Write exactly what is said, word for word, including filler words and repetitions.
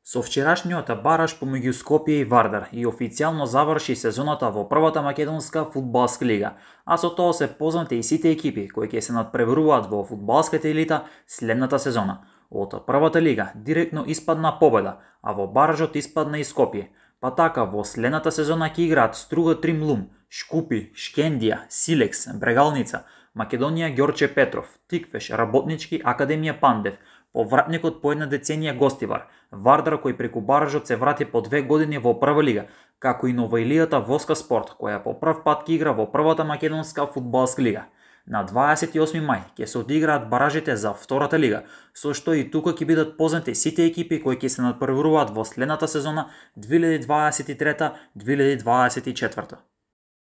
Со вчерашниот бараж помеѓу Скопје и Вардар и официјално заврши сезоната во првата македонска фудбалска лига, а со тоа се познати и сите екипи кои ќе се надпреваруваат во фудбалската елита следната сезона. Од првата лига директно испадна Победа, а во баражот испадна и Скопје. Па така во следната сезона ќе играат Струга Тримлум, Шкупи, Шкендија, Силекс, Брегалница, Македонија Ѓорче Петров, Тиквеш, Работнички, Академија Пандев, повратникот по една деценија Гостивар, Вардар кој преку баражот се врати по две години во прва лига, како и новоилијата Воска Спорт, која по прв пат ќе игра во првата македонска фудбалска лига. На дваесет и осми мај ќе се одиграат баражите за втората лига, со што и тука ќе бидат познати сите екипи кои ќе се надпреваруваат во следната сезона две илјади дваесет и трета две илјади дваесет и четврта.